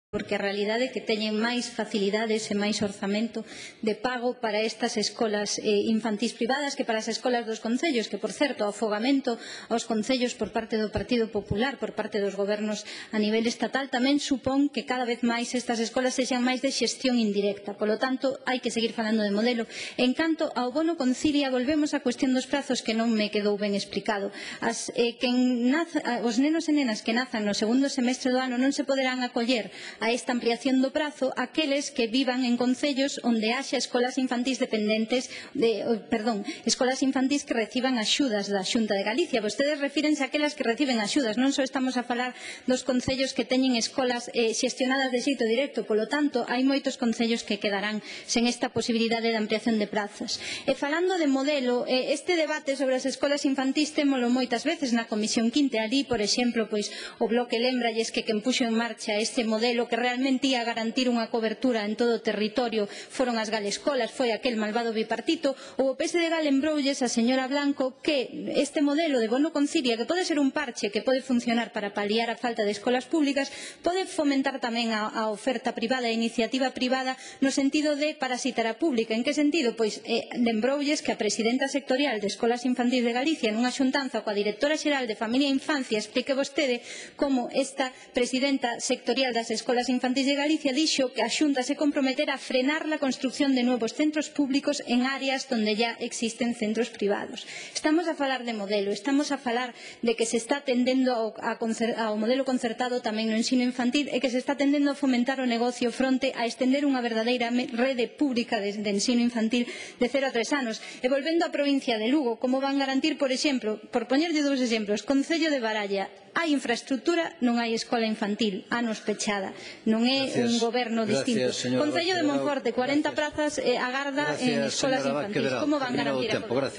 porque a realidade é que teñen máis facilidades e máis orzamento de pago para estas escolas infantís privadas que para as escolas dos concellos, que, por certo, o afogamento aos concellos por parte do Partido Popular, por parte dos gobernos a nivel estatal, tamén supón que cada vez máis estas escolas sexan máis de xestión indirecta. Polo tanto, hai que seguir falando de modelo. En canto ao bono concilia, volvemos á cuestión dos prazos que non me quedou ben explicado. Os nenos e nenas que nazan no segundo semestre do ano non se poderán acoller a esta ampliación do prazo aqueles que vivan en concellos onde haxa escolas infantís escolas infantís que reciban axudas da Xunta de Galicia. Vostedes refírense a aquelas que reciben axudas, non só estamos a falar dos concellos que teñen escolas xestionadas de xeito directo, polo tanto, hai moitos concellos que quedarán sen esta posibilidade de ampliación de prazas. E falando de modelo, este debate sobre as escolas infantís témolo moitas veces na Comisión Quinte. Ali, por exemplo, o Bloque lembralles que quen puxo en marcha este modelo que realmente ia garantir unha cobertura en todo o territorio foron as galescolas, foi aquel malvado bipartito, ou o PSD lembroulles a señora Blanco que este modelo de bono concilia, que pode ser un parche que pode funcionar para paliar a falta de escolas públicas, pode fomentar tamén a oferta privada, a iniciativa privada, no sentido de parasitar a pública. En que sentido? Pois lembroulles que a presidenta sectorial de Escolas Infantís de Galicia nunha xuntanza coa directora xeral de Familia e Infancia explique vostede como esta presidenta sectorial das Escolas Infantís de Galicia dixo que a Xunta se comprometera a frenar la construcción de nuevos centros públicos en áreas donde ya existen centros privados. Estamos a falar de modelo, estamos a falar de que se está tendendo ao modelo concertado tamén no ensino infantil e que se está tendendo a fomentar o negocio fronte a estender unha verdadeira rede pública de ensino infantil de 0 a 3 anos. E volvendo á provincia de Lugo, como van garantir, por exemplo, por poñerlle dous exemplos, Concello de Baralla, hai infraestructura, non hai escola infantil, anos pechada, non é un goberno distinto. Concello de Monforte, 40 prazas agarda en escolas infantis. Como van garantir a cobertura?